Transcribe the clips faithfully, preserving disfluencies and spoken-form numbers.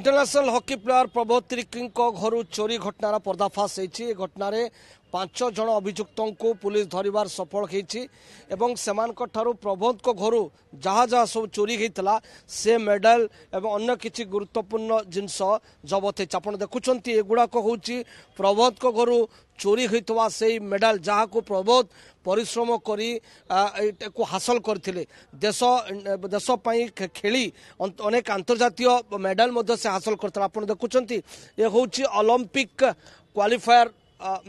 International hockey player Prabodh ତିର୍କୀଙ୍କ ଘରୁ ଚୋରି ଘଟଣାର ପର୍ଦ୍ଦାଫାଶ ହୋଇଛି। ଏ ଘଟଣାରେ ପାଞ୍ଚ ଜଣ ଅଭିଯୁକ୍ତଙ୍କୁ ପୁଲିସ ଧରିବାର ସଫଳ ହୋଇଛି ଏବଂ ସେମାନଙ୍କଠାରୁ ପ୍ରବୋଧଙ୍କ ଘରୁ ଯାହା ଯାହା ସବୁ ଚୋରି ହୋଇଥିଲା, ସେ ମେଡାଲ ଏବଂ ଅନ୍ୟ କିଛି ଗୁରୁତ୍ୱପୂର୍ଣ୍ଣ ଜିନିଷ ଜବତ ହୋଇଛି। ଆପଣ ଦେଖୁଛନ୍ତି, ଏଗୁଡ଼ାକ ହେଉଛି ପ୍ରବୋଧଙ୍କ ଘରୁ ଚୋରି ହୋଇଥିବା ସେଇ ମେଡାଲ, ଯାହାକୁ ପ୍ରବୋଧ ପରିଶ୍ରମ କରି ଏଟାକୁ ହାସଲ କରିଥିଲେ। ଦେଶ ଦେଶ ପାଇଁ ଖେଳି ଅନେକ ଆନ୍ତର୍ଜାତୀୟ ମେଡାଲ ମଧ୍ୟ ସେ ହାସଲ କରିଥିଲା। ଆପଣ ଦେଖୁଛନ୍ତି, ଏ ହେଉଛି ଅଲମ୍ପିକ କ୍ୱାଲିଫାୟାର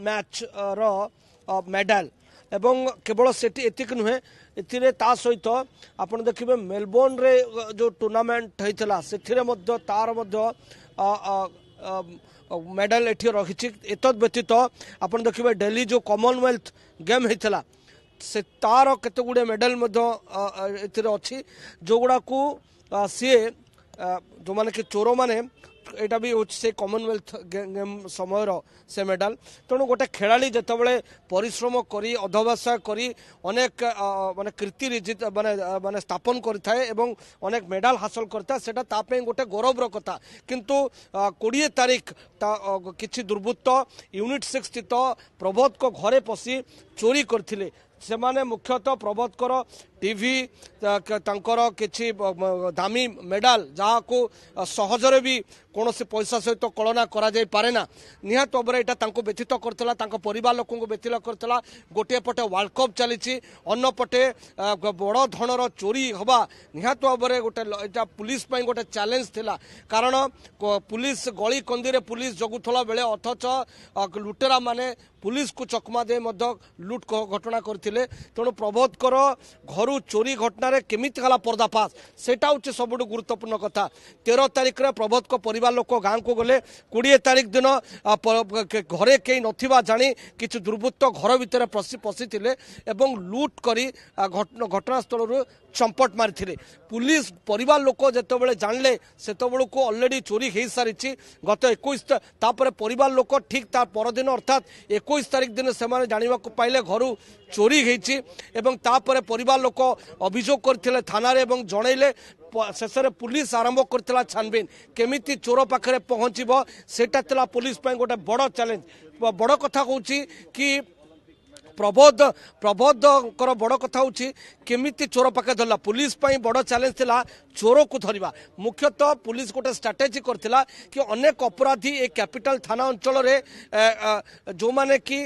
ମ୍ୟାଚ୍ର ମେଡାଲ ଏବଂ କେବଳ ସେଠି ଏତିକି ନୁହେଁ, ଏଥିରେ ତା ସହିତ ଆପଣ ଦେଖିବେ ମେଲବୋର୍ଣ୍ଣରେ ଯେଉଁ ଟୁର୍ଣ୍ଣାମେଣ୍ଟ ହେଇଥିଲା, ସେଥିରେ ମଧ୍ୟ ତାର ମଧ୍ୟ ମେଡାଲ ଏଠି ରହିଛି। ଏତଦ୍ ବ୍ୟତୀତ ଆପଣ ଦେଖିବେ, ଡେଲି ଯେଉଁ କମନୱେଲ୍ଥ ଗେମ୍ ହେଇଥିଲା, ସେ ତାର କେତେ ଗୁଡ଼ିଏ ମେଡାଲ ମଧ୍ୟ ଏଥିରେ ଅଛି, ଯେଉଁଗୁଡ଼ାକୁ ସିଏ ଯେଉଁମାନେ କି ଚୋରମାନେ, ଏଇଟା ବି ହେଉଛି ସେ କମନୱେଲ୍ଥ ଗେମ୍ ସମୟର ସେ ମେଡାଲ। ତେଣୁ ଗୋଟେ ଖେଳାଳି ଯେତେବେଳେ ପରିଶ୍ରମ କରି, ଅଧ୍ୟବସାୟ କରି ଅନେକ ମାନେ କୀର୍ତ୍ତି ମାନେ ମାନେ ସ୍ଥାପନ କରିଥାଏ ଏବଂ ଅନେକ ମେଡାଲ ହାସଲ କରିଥାଏ, ସେଇଟା ତା ପାଇଁ ଗୋଟେ ଗୌରବର କଥା। କିନ୍ତୁ କୋଡ଼ିଏ ତାରିଖ ତା କିଛି ଦୁର୍ବୃତ୍ତ ୟୁନିଟ୍ ସିକ୍ସ ସ୍ଥିତ ପ୍ରବୋଧଙ୍କ ଘରେ ପଶି ଚୋରି କରିଥିଲେ। ସେମାନେ ମୁଖ୍ୟତଃ ପ୍ରବୋଧଙ୍କର ଟିଭି, ତାଙ୍କର କିଛି ଦାମୀ ମେଡାଲ, ଯାହାକୁ ସହଜରେ ବି କୌଣସି ପଇସା ସହିତ କଳନା କରାଯାଇପାରେ ନା। ନିହାତି ଭାବରେ ଏଇଟା ତାଙ୍କୁ ବ୍ୟଥିତ କରିଥିଲା, ତାଙ୍କ ପରିବାର ଲୋକଙ୍କୁ ବ୍ୟଥିତ କରିଥିଲା। ଗୋଟିଏ ପଟେ ୱାର୍ଲଡ କପ୍ ଚାଲିଛି, ଅନ୍ୟପଟେ ବଡ଼ ଧରଣର ଚୋରି ହେବା ନିହାତି ଭାବରେ ଗୋଟେ ଏଇଟା ପୁଲିସ ପାଇଁ ଗୋଟେ ଚ୍ୟାଲେଞ୍ଜ ଥିଲା। କାରଣ ପୁଲିସ ଗଳି କନ୍ଦିରେ ପୁଲିସ ଜଗୁଥିଲା ବେଳେ ଅଥଚ ଲୁଟେରା ମାନେ ପୁଲିସକୁ ଚକମା ଦେଇ ମଧ୍ୟ ଲୁଟ୍ ଘଟଣା କରିଥିଲେ। ତେଣୁ ପ୍ରବୋଧଙ୍କର ଘରୁ ଚୋରି ଘଟଣାରେ କେମିତି ହେଲା ପର୍ଦ୍ଦାଫାଶ, ସେଇଟା ହେଉଛି ସବୁଠୁ ଗୁରୁତ୍ୱପୂର୍ଣ୍ଣ କଥା। ତେର ତାରିଖରେ ପ୍ରବୋଧଙ୍କ ପରିବାର ଲୋକ ଗାଁକୁ ଗଲେ। କୋଡ଼ିଏ ତାରିଖ ଦିନ ଘରେ କେହି ନଥିବା ଜାଣି କିଛି ଦୁର୍ବୃତ୍ତ ଘର ଭିତରେ ପଶି ପଶିଥିଲେ ଏବଂ ଲୁଟ୍ କରି ଘଟଣାସ୍ଥଳରୁ ଚମ୍ପଟ ମାରିଥିଲେ। ପୁଲିସ ପରିବାର ଲୋକ ଯେତେବେଳେ ଜାଣିଲେ, ସେତେବେଳକୁ ଅଲରେଡ଼ି ଚୋରି ହେଇସାରିଛି ଗତ ଏକୋଇଶ। ତାପରେ ପରିବାର ଲୋକ ଠିକ୍ ତା ପରଦିନ, ଅର୍ଥାତ୍ ଏକୋଇଶ ତାରିଖ ଦିନ ସେମାନେ ଜାଣିବାକୁ ପାଇଲେ ଘରୁ ଚୋରି ହେଇଛି ଏବଂ ତାପରେ ପରିବାର ଲୋକ ଅଭିଯୋଗ କରିଥିଲେ ଥାନାରେ ଏବଂ ଜଣେଇଲେ। ଶେଷରେ ପୁଲିସ ଆରମ୍ଭ କରିଥିଲା ଛାନବିନ। କେମିତି ଚୋର ପାଖରେ ପହଞ୍ଚିବ, ସେଇଟା ଥିଲା ପୁଲିସ ପାଇଁ ଗୋଟେ ବଡ଼ ଚ୍ୟାଲେଞ୍ଜ। ବଡ଼ କଥା ହେଉଛି କି ପ୍ରବୋଧ ପ୍ରବୋଧଙ୍କର ବଡ଼ କଥା ହେଉଛି କେମିତି ଚୋର ପାଖରେ ଧରିଲା। ପୁଲିସ ପାଇଁ ବଡ଼ ଚ୍ୟାଲେଞ୍ଜ ଥିଲା ଚୋରକୁ ଧରିବା। ମୁଖ୍ୟତଃ ପୁଲିସ ଗୋଟେ ଷ୍ଟ୍ରାଟେଜି କରିଥିଲା କି ଅନେକ ଅପରାଧୀ ଏ କ୍ୟାପିଟାଲ ଥାନା ଅଞ୍ଚଳରେ ଯେଉଁମାନେ କି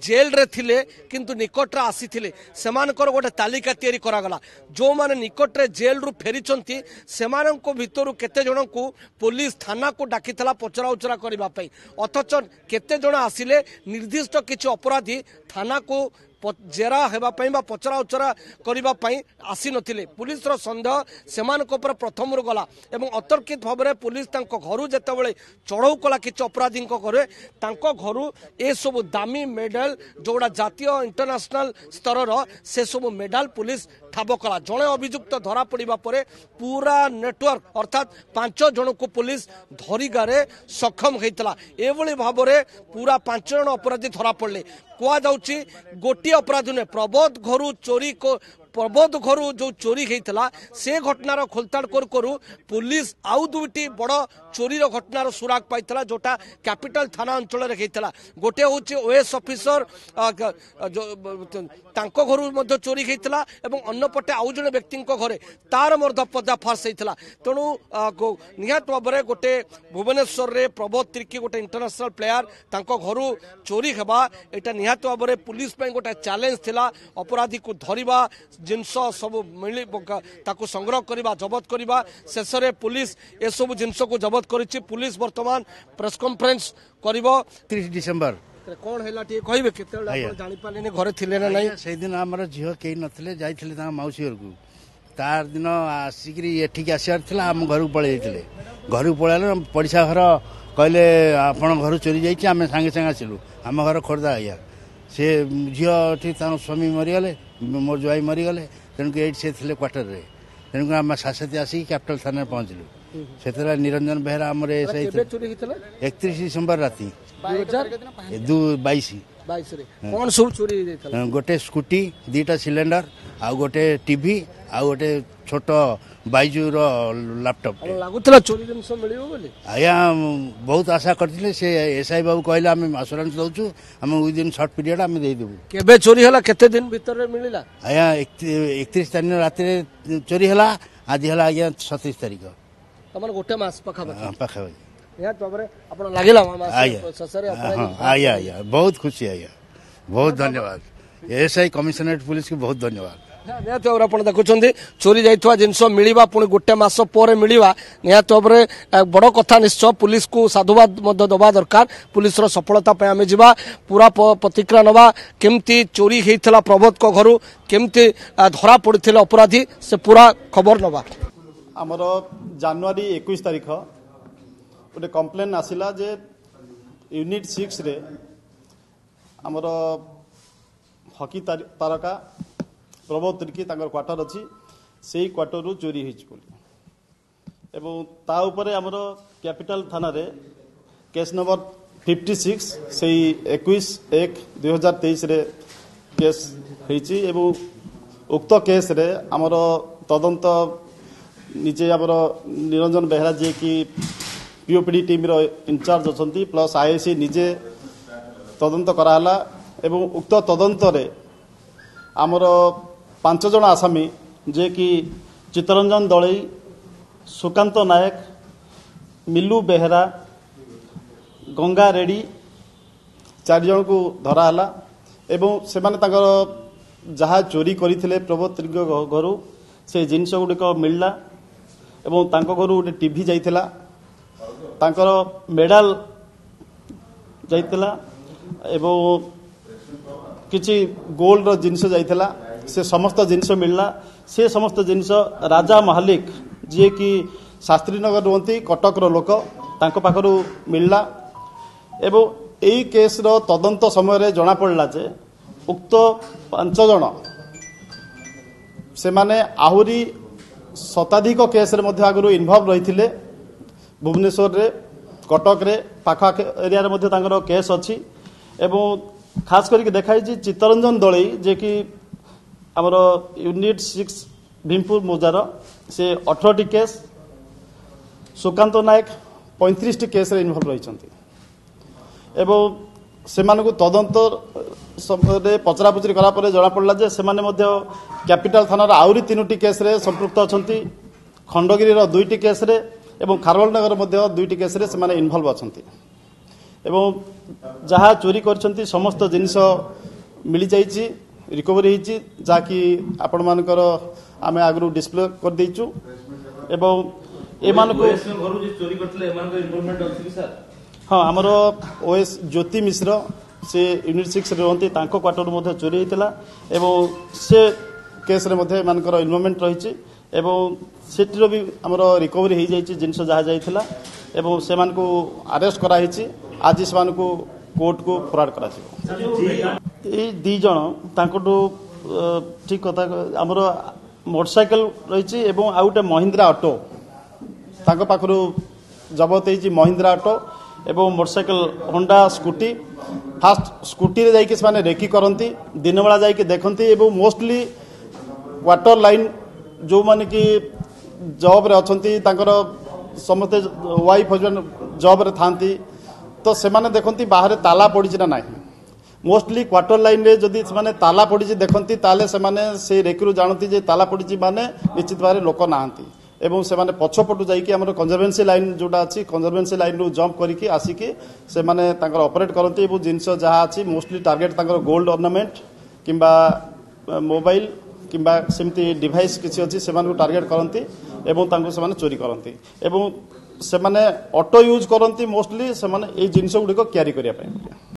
ଜେଲରେ ଥିଲେ କିନ୍ତୁ ନିକଟରେ ଆସିଥିଲେ, ସେମାନଙ୍କର ଗୋଟେ ତାଲିକା ତିଆରି କରାଗଲା। ଯେଉଁମାନେ ନିକଟରେ ଜେଲରୁ ଫେରିଛନ୍ତି, ସେମାନଙ୍କ ଭିତରୁ କେତେ ଜଣଙ୍କୁ ପୋଲିସ ଥାନାକୁ ଡାକିଥିଲା ପଚରା ଉଚରା କରିବା ପାଇଁ। ଅଥଚ କେତେ ଜଣ ଆସିଲେ, ନିର୍ଦ୍ଦିଷ୍ଟ କିଛି ଅପରାଧୀ ଥାନାକୁ ଜେରା ହେବା ପାଇଁ ବା ପଚରା ଉଚରା କରିବା ପାଇଁ ଆସିନଥିଲେ। ପୁଲିସର ସନ୍ଦେହ ସେମାନଙ୍କ ଉପରେ ପ୍ରଥମରୁ ଗଲା ଏବଂ ଅତର୍କିତ ଭାବରେ ପୁଲିସ ତାଙ୍କ ଘରୁ ଯେତେବେଳେ ଚଢ଼ଉ କଲା, କିଛି ଅପରାଧୀଙ୍କ ଘରେ, ତାଙ୍କ ଘରୁ ଏସବୁ ଦାମୀ ମେଡାଲ, ଯେଉଁଗୁଡ଼ା ଜାତୀୟ ଇଣ୍ଟରନ୍ୟାସନାଲ ସ୍ତରର, ସେସବୁ ମେଡାଲ ପୁଲିସ ଠାବ କଲା। ଜଣେ ଅଭିଯୁକ୍ତ ଧରା ପଡ଼ିବା ପରେ ପୁରା ନେଟୱାର୍କ, ଅର୍ଥାତ୍ ପାଞ୍ଚ ଜଣଙ୍କୁ ପୁଲିସ ଧରିବାରେ ସକ୍ଷମ ହୋଇଥିଲା। ଏଭଳି ଭାବରେ ପୁରା ପାଞ୍ଚ ଜଣ ଅପରାଧୀ ଧରା ପଡ଼ିଲେ। କୁହାଯାଉଛି ଗୋଟିଏ ଅପରାଧୀ ନୁହେଁ, ପ୍ରବୋଧ ଘରୁ ଚୋରି ପ୍ରବୋଧ ଘରୁ ଯେଉଁ ଚୋରି ହେଇଥିଲା, ସେ ଘଟଣାର ଖୋଲତାଡ଼ କରୁ କରୁ ପୁଲିସ ଆଉ ଦୁଇଟି ବଡ଼ ଚୋରିର ଘଟଣାର ସୁରାଗ ପାଇଥିଲା, ଯେଉଁଟା କ୍ୟାପିଟାଲ ଥାନା ଅଞ୍ଚଳରେ ହେଇଥିଲା। ଗୋଟିଏ ହେଉଛି ଓଏସ୍ ଅଫିସର, ତାଙ୍କ ଘରୁ ମଧ୍ୟ ଚୋରି ହେଇଥିଲା ଏବଂ ଅନ୍ୟପଟେ ଆଉ ଜଣେ ବ୍ୟକ୍ତିଙ୍କ ଘରେ, ତାର ମଧ୍ୟ ପର୍ଦ୍ଦାଫାଶ ହେଇଥିଲା। ତେଣୁ ନିହାତି ଭାବରେ ଗୋଟେ ଭୁବନେଶ୍ୱରରେ ପ୍ରବୋଧ ତିର୍କୀ, ଗୋଟେ ଇଣ୍ଟରନ୍ୟାସନାଲ ପ୍ଲେୟାର, ତାଙ୍କ ଘରୁ ଚୋରି ହେବା ଏଇଟା ନିହାତି ଭାବରେ ପୁଲିସ ପାଇଁ ଗୋଟେ ଚ୍ୟାଲେଞ୍ଜ ଥିଲା। ଅପରାଧୀକୁ ଧରିବା, ଜିନିଷ ସବୁ ମିଳି ତାକୁ ସଂଗ୍ରହ କରିବା, ଜବତ କରିବା, ଶେଷରେ ପୁଲିସ ଏସବୁ ଜିନିଷକୁ ଜବତ କରିଛି। ପୁଲିସ ବର୍ତ୍ତମାନ ପ୍ରେସ୍ କନଫରେନ୍ସ କରିବ। ତିରିଶ ଡିସେମ୍ବର କଣ ହେଲା ଟିକେ କହିବେ? କେତେବେଳେ ଆପଣ ଜାଣିପାରିଲେନି, ଘରେ ଥିଲେ ନା ନାହିଁ? ସେଇଦିନ ଆମର ଝିଅ କେହି ନଥିଲେ, ଯାଇଥିଲେ ତାଙ୍କ ମାଉସୀ ଘରକୁ। ତାର ଦିନ ଆସିକିରି ଏଠିକି ଆସିବାର ଥିଲା, ଆମ ଘରକୁ ପଳେଇ ଯାଇଥିଲେ। ଘରକୁ ପଳେଇଲେ, ପଡ଼ିଶା ଘର କହିଲେ ଆପଣ ଘରୁ ଚୋରି ଯାଇଛି। ଆମେ ସାଙ୍ଗେ ସାଙ୍ଗେ ଆସିଲୁ। ଆମ ଘର ଖୋର୍ଦ୍ଧା ଆଜ୍ଞା। ସେ ଝିଅ ଏଠି ତାଙ୍କ ସ୍ୱାମୀ ମରିଗଲେ, ମୋର ଜ୍ୱାଇଁ ମରିଗଲେ, ତେଣୁକରି ଏଇଠି ସେ ଥିଲେ କ୍ୱାର୍ଟରରେ। ତେଣୁକରି ଆମେ ସାଥି ଆସିକି କ୍ୟାପିଟାଲ ଥାନାରେ ପହଞ୍ଚିଲୁ। ସେତେବେଳେ ନିରଞ୍ଜନ ବେହେରା ଆମର ହେଇଥିଲା। ଏକତିରିଶ ଡିସେମ୍ବର ରାତି ଦୁଇ ବାଇଶ। ବାଇଶରେ କ'ଣ ସବୁ ଚୋରି ହେଇଯାଇଥିଲା? ଗୋଟେ ସ୍କୁଟି, ଦୁଇଟା ସିଲିଣ୍ଡର, ଆଉ ଗୋଟେ ଟିଭି, ଆଉ ଗୋଟେ ଛୋଟ ବାଇଜୁର ଲାପଟପ୍। ଲାଗୁଥିଲା ଚୋରି ଜିନିଷ ମିଳିବ ବୋଲି? ଆଜ୍ଞା, ବହୁତ ଆଶା କରିଥିଲେ। ସେ ଏସ୍ I ବାବୁ କହିଲେ ଆମେ ଆସୁରାନ୍ସ ଦେଉଛୁ, ଆମେ ୱିଦିନ୍ ସର୍ଟ ପିରିୟଡ଼ ଆମେ ଦେଇଦେବୁ। କେବେ ଚୋରି ହେଲା, କେତେ ଦିନ ଭିତରେ ମିଳିଲା? ଆଜ୍ଞା, ଏକତିରିଶ ତାରିଖ ରାତିରେ ଚୋରି ହେଲା, ଆଜି ହେଲା ଆଜ୍ଞା ସତେଇଶ ତାରିଖ, ତମର ଗୋଟେ ମାସ ପାଖାପାଖି। ପାଖାପାଖି। ନିହାତି ଭାବରେ ଆପଣ ଲାଗିଲା? ଆଜ୍ଞା ଆଜ୍ଞା ଆଜ୍ଞା, ବହୁତ ଖୁସି ଆଜ୍ଞା, ବହୁତ ଧନ୍ୟବାଦ ଏସ୍ I commissionerate ପୁଲିସକୁ, ବହୁତ ଧନ୍ୟବାଦ। ନିହାତି ଭାବରେ ଆପଣ ଦେଖୁଛନ୍ତି, ଚୋରି ଯାଇଥିବା ଜିନିଷ ମିଳିବା, ପୁଣି ଗୋଟେ ମାସ ପରେ ମିଳିବା, ନିହାତି ଭାବରେ ବଡ଼ କଥା। ନିଶ୍ଚୟ ପୁଲିସକୁ ସାଧୁବାଦ ମଧ୍ୟ ଦେବା ଦରକାର ପୁଲିସର ସଫଳତା ପାଇଁ। ଆମେ ଯିବା, ପୁରା ପ୍ରତିକ୍ରିୟା ନେବା, କେମିତି ଚୋରି ହେଇଥିଲା ପ୍ରବୋଧଙ୍କ ଘରୁ, କେମିତି ଧରା ପଡ଼ିଥିଲେ ଅପରାଧୀ, ସେ ପୁରା ଖବର ନେବା। ଆମର ଜାନୁଆରୀ ଏକୋଇଶ ତାରିଖ ଗୋଟେ କମ୍ପ୍ଲେନ୍ ଆସିଲା ଯେ ୟୁନିଟ୍ ସିକ୍ସରେ ଆମର ହକି ତାରକା ପ୍ରବୋଧ ତିର୍କି ତାଙ୍କର କ୍ୱାର୍ଟର ଅଛି, ସେଇ କ୍ୱାର୍ଟରରୁ ଚୋରି ହେଇଛି ବୋଲି। ଏବଂ ତା ଉପରେ ଆମର କ୍ୟାପିଟାଲ ଥାନାରେ କେସ୍ ନମ୍ବର ଫିଫ୍ଟି ସିକ୍ସ ସେଇ ଏକୋଇଶ ଏକ ଦୁଇ ହଜାର ତେଇଶରେ କେସ୍ ହେଇଛି। ଏବଂ ଉକ୍ତ କେସ୍ରେ ଆମର ତଦନ୍ତ ନିଜେ ଆମର ନିରଞ୍ଜନ ବେହେରା, ଯିଏକି ପିଓପିଡି ଟିମ୍ର ଇନଚାର୍ଜ ଅଛନ୍ତି, ପ୍ଲସ୍ ଆଇଆଇସି ନିଜେ ତଦନ୍ତ କରାହେଲା। ଏବଂ ଉକ୍ତ ତଦନ୍ତରେ ଆମର ପାଞ୍ଚ ଜଣ ଆସାମୀ, ଯିଏକି ଚିତ୍ତରଞ୍ଜନ ଦଳେଇ, ସୁକାନ୍ତ ନାୟକ, ମିଲୁ ବେହେରା, ଗଙ୍ଗା ରେଡ଼ି, ଚାରି ଜଣକୁ ଧରାହେଲା। ଏବଂ ସେମାନେ ତାଙ୍କର ଯାହା ଚୋରି କରିଥିଲେ ପ୍ରବୋଧ ତିର୍କୀଙ୍କ ଘରୁ, ସେ ଜିନିଷ ଗୁଡ଼ିକ ମିଳିଲା। ଏବଂ ତାଙ୍କ ଘରୁ ଗୋଟେ ଟିଭି ଯାଇଥିଲା, ତାଙ୍କର ମେଡାଲ ଯାଇଥିଲା ଏବଂ କିଛି ଗୋଲ୍ଡର ଜିନିଷ ଯାଇଥିଲା। ସେ ସମସ୍ତ ଜିନିଷ ମିଳିଲା। ସେ ସମସ୍ତ ଜିନିଷ ରାଜା ମହାଲିକ, ଯିଏକି ଶାସ୍ତ୍ରୀନଗର ରୁହନ୍ତି, କଟକର ଲୋକ, ତାଙ୍କ ପାଖରୁ ମିଳିଲା। ଏବଂ ଏଇ କେସ୍ର ତଦନ୍ତ ସମୟରେ ଜଣାପଡ଼ିଲା ଯେ ଉକ୍ତ ପାଞ୍ଚ ଜଣ ସେମାନେ ଆହୁରି ଶତାଧିକ କେସ୍ରେ ମଧ୍ୟ ଆଗରୁ ଇନଭଲ୍ଭ ରହିଥିଲେ। ଭୁବନେଶ୍ୱରରେ, କଟକରେ, ପାଖ ଏରିଆରେ ମଧ୍ୟ ତାଙ୍କର କେସ୍ ଅଛି। ଏବଂ ଖାସ କରିକି ଦେଖାଯାଇଛି ଚିତ୍ତରଞ୍ଜନ ଦଳେଇ, ଯିଏକି ଆମର ୟୁନିଟ୍ ସିକ୍ସ ଭୀମପୁର ମୌଜାର, ସେ ଅଠରଟି କେସ୍, ସୁକାନ୍ତ ନାୟକ ପଇଁତିରିଶଟି କେସ୍ରେ ଇନଭଲ୍ଭ ରହିଛନ୍ତି। ଏବଂ ସେମାନଙ୍କୁ ତଦନ୍ତ ସମୟରେ ପଚରାପଚରି କଲା ପରେ ଜଣାପଡ଼ିଲା ଯେ ସେମାନେ ମଧ୍ୟ କ୍ୟାପିଟାଲ ଥାନାର ଆହୁରି ତିନୋଟି କେସ୍ରେ ସମ୍ପୃକ୍ତ ଅଛନ୍ତି, ଖଣ୍ଡଗିରିର ଦୁଇଟି କେସ୍ରେ ଏବଂ ଖାରବେଳନଗର ମଧ୍ୟ ଦୁଇଟି କେସ୍ରେ ସେମାନେ ଇନଭଲ୍ଭ ଅଛନ୍ତି। ଏବଂ ଯାହା ଚୋରି କରିଛନ୍ତି ସମସ୍ତ ଜିନିଷ ମିଳିଯାଇଛି, ରିକଭରି ହେଇଛି, ଯାହାକି ଆପଣମାନଙ୍କର ଆମେ ଆଗରୁ ଡିସପ୍ଲେ କରିଦେଇଛୁ। ଏବଂ ଏମାନଙ୍କୁ, ହଁ, ଆମର ଓଏସ୍ ଜ୍ୟୋତି ମିଶ୍ର, ସେ ୟୁନିଟ୍ ସିକ୍ସରେ ରୁହନ୍ତି, ତାଙ୍କ କ୍ୱାର୍ଟରରୁ ମଧ୍ୟ ଚୋରି ହେଇଥିଲା ଏବଂ ସେ କେସ୍ରେ ମଧ୍ୟ ଏମାନଙ୍କର ଇନଭଲଭମେଣ୍ଟ ରହିଛି। ଏବଂ ସେଠିର ବି ଆମର ରିକଭରି ହେଇଯାଇଛି ଜିନିଷ ଯାହା ଯାଇଥିଲା, ଏବଂ ସେମାନଙ୍କୁ ଆରେଷ୍ଟ କରାହେଇଛି। ଆଜି ସେମାନଙ୍କୁ କୋର୍ଟକୁ ଫରୱାର୍ଡ କରାଯିବ। ଏଇ ଦୁଇ ଜଣ ତାଙ୍କଠୁ, ଠିକ କଥା, ଆମର ମୋଟରସାଇକେଲ ରହିଛି ଏବଂ ଆଉ ଗୋଟେ ମହିନ୍ଦ୍ରା ଅଟୋ ତାଙ୍କ ପାଖରୁ ଜବତ ହେଇଛି। ମହିନ୍ଦ୍ରା ଅଟୋ ଏବଂ ମୋଟରସାଇକେଲ, ହୋଣ୍ଡା ସ୍କୁଟି। ଫାଷ୍ଟ ସ୍କୁଟିରେ ଯାଇକି ସେମାନେ ରେକି କରନ୍ତି, ଦିନବେଳା ଯାଇକି ଦେଖନ୍ତି। ଏବଂ ମୋଷ୍ଟଲି କ୍ୱାର୍ଟର ଲାଇନ୍ ଯେଉଁମାନେ କି ଜବ୍ରେ ଅଛନ୍ତି, ତାଙ୍କର ସମସ୍ତେ ୱାଇଫ୍ ହଜବେଣ୍ଡ ଜବ୍ରେ ଥାଆନ୍ତି, ତ ସେମାନେ ଦେଖନ୍ତି ବାହାରେ ତାଲା ପଡ଼ିଛି ନା ନାହିଁ। ମୋଷ୍ଟଲି କ୍ୱାର୍ଟର ଲାଇନ୍ରେ ଯଦି ସେମାନେ ତାଲା ପଡ଼ିଛି ଦେଖନ୍ତି, ତାହେଲେ ସେମାନେ ସେଇ ରେକିରୁ ଜାଣନ୍ତି ଯେ ତାଲା ପଡ଼ିଛି ମାନେ ନିଶ୍ଚିତ ଭାବରେ ଲୋକ ନାହାନ୍ତି। ଏବଂ ସେମାନେ ପଛପଟୁ ଯାଇକି ଆମର କନଜରଭେନ୍ସି ଲାଇନ୍ ଯେଉଁଟା ଅଛି, କନଜରଭେନ୍ସି ଲାଇନ୍ରୁ ଜମ୍ପ କରିକି ଆସିକି ସେମାନେ ତାଙ୍କର ଅପରେଟ୍ କରନ୍ତି। ଏବଂ ଜିନିଷ ଯାହା ଅଛି, ମୋଷ୍ଟଲି ଟାର୍ଗେଟ୍ ତାଙ୍କର ଗୋଲ୍ଡ ଅର୍ଣ୍ଣାମେଣ୍ଟ କିମ୍ବା ମୋବାଇଲ କିମ୍ବା ସେମିତି ଡିଭାଇସ୍ କିଛି ଅଛି, ସେମାନଙ୍କୁ ଟାର୍ଗେଟ୍ କରନ୍ତି ଏବଂ ତାଙ୍କୁ ସେମାନେ ଚୋରି କରନ୍ତି। ଏବଂ ସେମାନେ ଅଟୋ ୟୁଜ୍ କରନ୍ତି ମୋଷ୍ଟଲି ସେମାନେ ଏଇ ଜିନିଷ ଗୁଡ଼ିକ କ୍ୟାରି କରିବା ପାଇଁ।